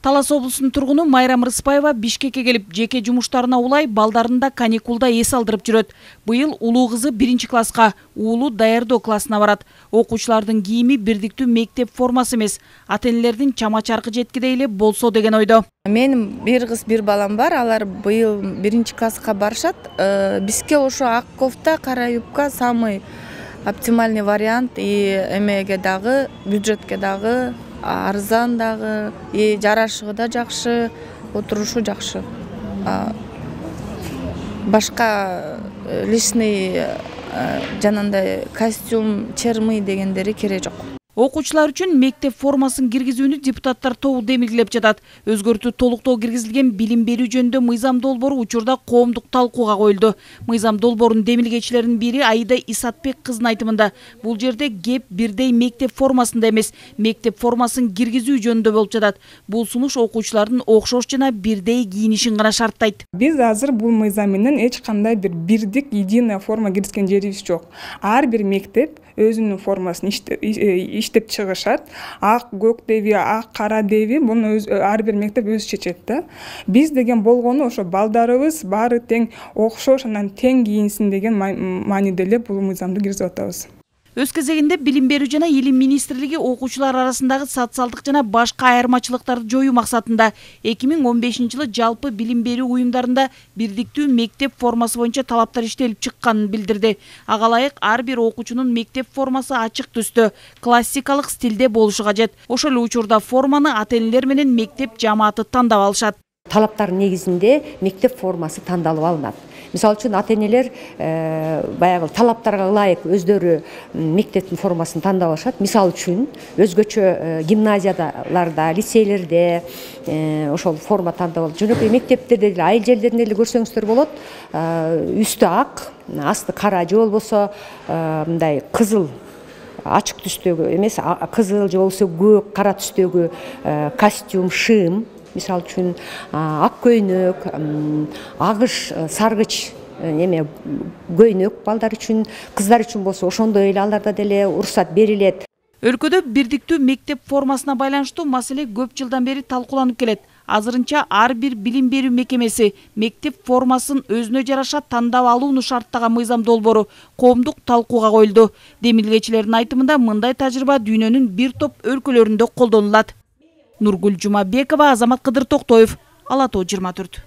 Талас облусунун тургуну Майрам Рыспаева Бишкекке келип, жеке жумуштарына улай балдарында каникулда эс алдырып жүрөт. Быйыл улуу кызы 1-класска, уулу даярдоо классына барат. Окуучулардын кийими бирдиктүү мектеп формасы эмес, ата-энелердин чама-чаркы жеткидей эле болсо деген ойдо. Менин бир кыз, бир балам бар. Алар быйыл 1-класска барышат. Бизге ошо ак кофта, кара юбка самый оптимальный вариант. И эмеге дагы, бюджетке дагы арзан дагы, жарашыгы да жакшы, отурушу жакшы. Башка лишний жанандай костюм, чермый дегендери кереги жок. Окуучулар үчүн мектеп формасын киргизүүнү депутаттар тобу демилгелеп жатат. Өзгөртүү толуктоо киргизилген билим берүү жөнүндө мыйзам долбоору учурда коомдук талкууга коюлду. Мыйзам долбоорунун демилгечилеринин бири Аида Исатбек кыздын айтымында бул жерде кеп бирдей мектеп формасында эмес, мектеп формасын киргизүү жөнүндө болуп жатат. Бул сунуш окуучулардын окшош жана бирдей кийинишин гана шарттайт. Биз азыр бул мыйзам менен эч кандай бир бирдик единая форма киргизген жерибиз жок. Ар бир мектеп өзүнүн формасын иштеп чыгышат. Ак, көк деби, ак, кара деби, буну ар бир мектеп өзү чечет да. Биз деген болгону ошо балдарыбыз баары тең окшош, анан тең кийинсин деген мааниде эле бул мыйзамды киргизип атабыз. Өз кезегинде Билим берүү жана Илим министрлиги окуучулар арасындагы социалдык жана башка айырмачылыктарды жоюу максатында 2015-жылы жалпы билим берүү уюмдарында бирдиктүү мектеп формасы боюнча талаптар иштелип чыкканын билдирди. Ага ылайык ар бир окуучунун мектеп формасы ачык түстө, классикалык стилде болушу кажет. Ошол эле учурда форманы ата-энелер менен мектеп жамааты тандап алышат. Талаптар негизинде мектеп формасы тандалып алынат. Мисалы үчүн ата-энелер баягы талаптарга ылайык өздөрү мектептин формасын тандап алышат. Мисалы үчүн өзгөчө гимназияларда, лицейлерде ошол форма тандап алып, жөнөкөй мектептерде деле, айыл жерлеринде деле көрсөңүздөр болот. Үстү ак, асты кара же болбосо мындай кызыл, ачык түстөгү эмес, кызыл же болбосо көк, кара түстөгү костюм, шым. Мисал үчүн ак көйнөк, агыш, саргыч эме көйнөк балдар үчүн, кыздар үчүн болсо ошондой эле аларда деле уруксат берилет. Өлкөдө бирдиктүү мектеп формасына байланыштуу маселе көп жылдан бери талкууланып келет. Азырынча ар бир билим берүү мекемеси мектеп формасын өзүнө жараша тандап алууну шарттаган мыйзам долбоору коомдук талкууга коюлду. Демилгечилердин айтымында мындай тажрыйба дүйнөнүн бир топ өлкөлөрүндө колдонулат. Нургүл Жумабекова, Азамат Кыдыр Токтоев, Ала Тоо 24.